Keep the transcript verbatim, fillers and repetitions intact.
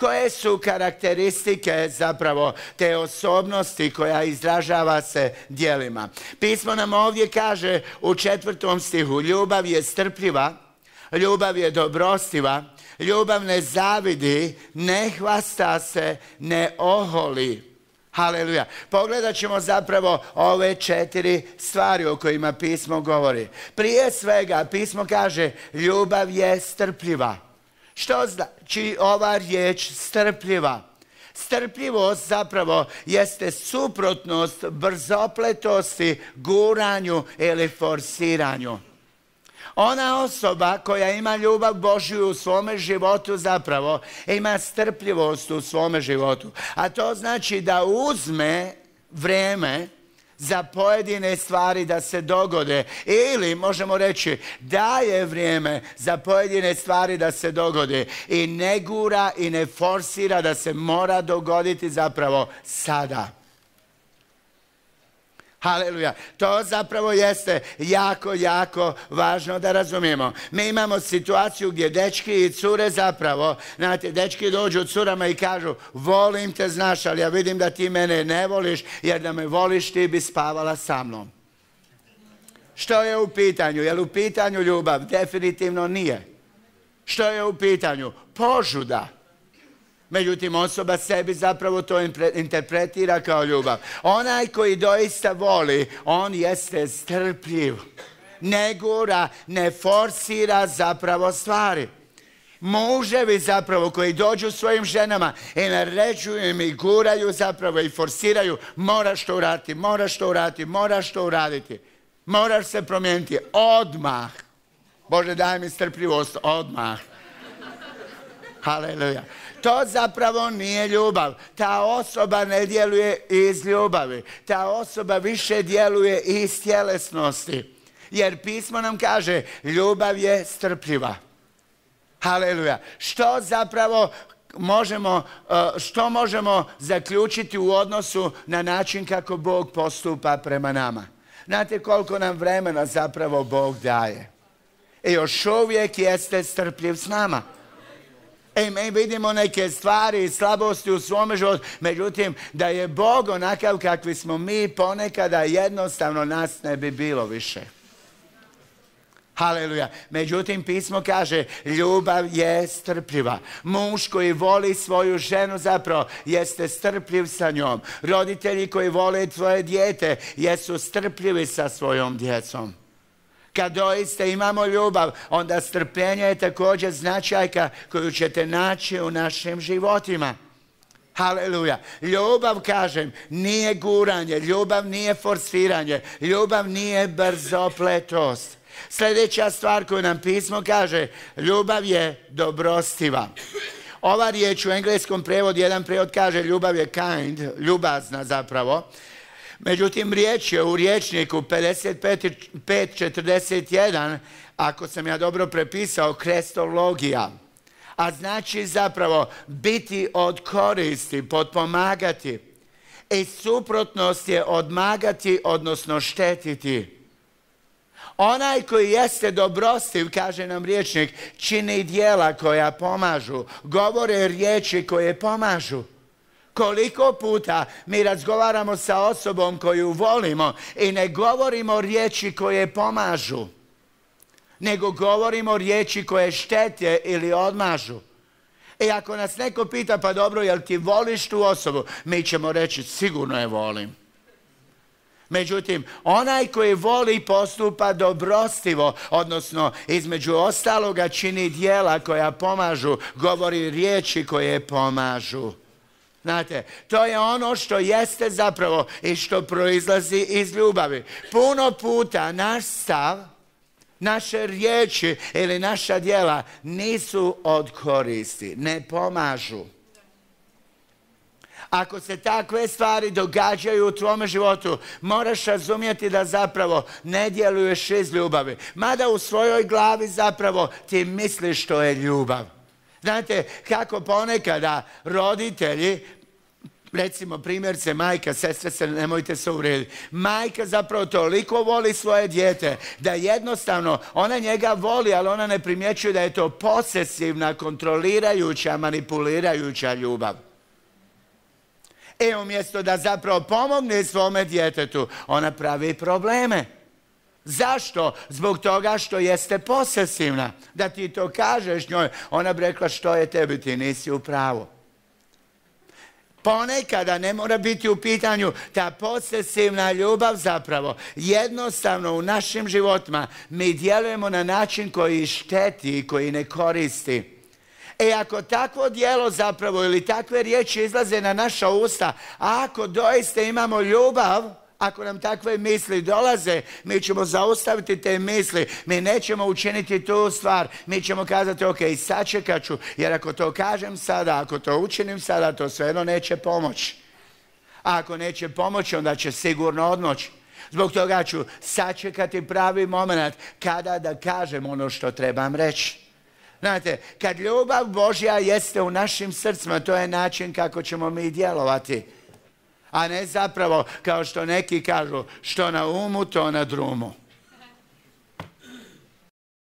Koje su karakteristike zapravo te osobnosti koja izražava se djelima? Pismo nam ovdje kaže u četvrtom stihu: ljubav je strpljiva, ljubav je dobrostiva, ljubav ne zavidi, ne hvasta se, ne oholi. Haleluja. Pogledat ćemo zapravo ove četiri stvari o kojima pismo govori. Prije svega pismo kaže ljubav je strpljiva. Što znači ova riječ strpljiva? Strpljivost zapravo jeste suprotnost brzopletosti, guranju ili forsiranju. Ona osoba koja ima ljubav Božju u svome životu zapravo ima strpljivost u svome životu. A to znači da uzme vrijeme za pojedine stvari da se dogode. Ili možemo reći daje vrijeme za pojedine stvari da se dogode. I ne gura i ne forsira da se mora dogoditi zapravo sada. Haleluja. To zapravo jeste jako, jako važno da razumijemo. Mi imamo situaciju gdje dečki i cure zapravo, znate, dečki dođu curama i kažu volim te, znaš, ali ja vidim da ti mene ne voliš, jer da me voliš ti bi spavala sa mnom. Što je u pitanju? Je li u pitanju ljubav? Definitivno nije. Što je u pitanju? Požuda. Međutim, osoba sebi zapravo to interpretira kao ljubav. Onaj koji doista voli, on jeste strpljiv. Ne gura, ne forsira zapravo stvari. Muževi zapravo koji dođu svojim ženama i naređuju im i guraju zapravo i forsiraju, moraš to uraditi, moraš to uraditi, moraš to uraditi. Moraš se promijeniti odmah. Bože, daj mi strpljivost odmah. Haleluja. To zapravo nije ljubav. Ta osoba ne djeluje iz ljubavi. Ta osoba više djeluje iz tjelesnosti. Jer pismo nam kaže ljubav je strpljiva. Haleluja. Što zapravo možemo, što možemo zaključiti u odnosu na način kako Bog postupa prema nama? Znate koliko nam vremena zapravo Bog daje. I još uvijek jeste strpljiv s nama. E, mi vidimo neke stvari i slabosti u svome životu, međutim, da je Bog onakav kakvi smo mi, ponekada jednostavno nas ne bi bilo više. Haleluja. Međutim, pismo kaže, ljubav je strpljiva. Muž koji voli svoju ženu zapravo jeste strpljiv sa njom. Roditelji koji vole tvoje dijete jesu strpljivi sa svojom djecom. Kad doista imamo ljubav, onda strpljenje je također značajka koju ćete naći u našim životima. Haleluja. Ljubav, kažem, nije guranje, ljubav nije forsiranje, ljubav nije brzopletost. Sljedeća stvar koju nam pismo kaže, ljubav je dobrostiva. Ova riječ u engleskom prijevodu, jedan prijevod kaže ljubav je kind, ljubazna zapravo. Međutim, riječ je u rječniku pedeset pet četrdeset jedan, ako sam ja dobro prepisao, krestologija. A znači zapravo biti od koristi, potpomagati. I suprotnost je odmagati, odnosno štetiti. Onaj koji jeste dobrostiv, kaže nam rječnik, čini djela koja pomažu, govore riječi koje pomažu. Koliko puta mi razgovaramo sa osobom koju volimo i ne govorimo riječi koje pomažu, nego govorimo riječi koje štete ili odmažu. I ako nas neko pita, pa dobro, jel ti voliš tu osobu? Mi ćemo reći, sigurno je volim. Međutim, onaj koji voli postupa dobrostivo, odnosno između ostaloga čini djela koja pomažu, govori riječi koje pomažu. Znate, to je ono što jeste zapravo i što proizlazi iz ljubavi. Puno puta naš stav, naše riječi ili naša djela nisu od koristi, ne pomažu. Ako se takve stvari događaju u tvome životu, moraš razumjeti da zapravo ne djeluješ iz ljubavi. Mada u svojoj glavi zapravo ti misliš što je ljubav. Znate kako ponekada roditelji Recimo, primjerce, majka, sestre se, nemojte se uvrijediti. Majka zapravo toliko voli svoje dijete da jednostavno ona njega voli, ali ona ne primjećuje da je to posesivna, kontrolirajuća, manipulirajuća ljubav. E, umjesto da zapravo pomogne svome djetetu, ona pravi probleme. Zašto? Zbog toga što jeste posesivna. Da ti to kažeš njoj, ona bi rekla što je tebi, ti nisi u pravu. Ponekada ne mora biti u pitanju ta posesivna ljubav zapravo. Jednostavno u našim životima mi djelujemo na način koji šteti i koji ne koristi. E ako takvo djelo zapravo ili takve riječi izlaze na naša usta, a ako doista imamo ljubav, ako nam takve misli dolaze, mi ćemo zaustaviti te misli, mi nećemo učiniti tu stvar, mi ćemo kazati ok, sačekat ću, jer ako to kažem sada, ako to učinim sada, to svejedno neće pomoći. A ako neće pomoći, onda će sigurno odmoći. Zbog toga ću sačekati pravi moment kada da kažem ono što trebam reći. Znate, kad ljubav Božja jeste u našim srcima, to je način kako ćemo mi djelovati. A ne zapravo, kao što neki kažu, što na umu, to na drumu.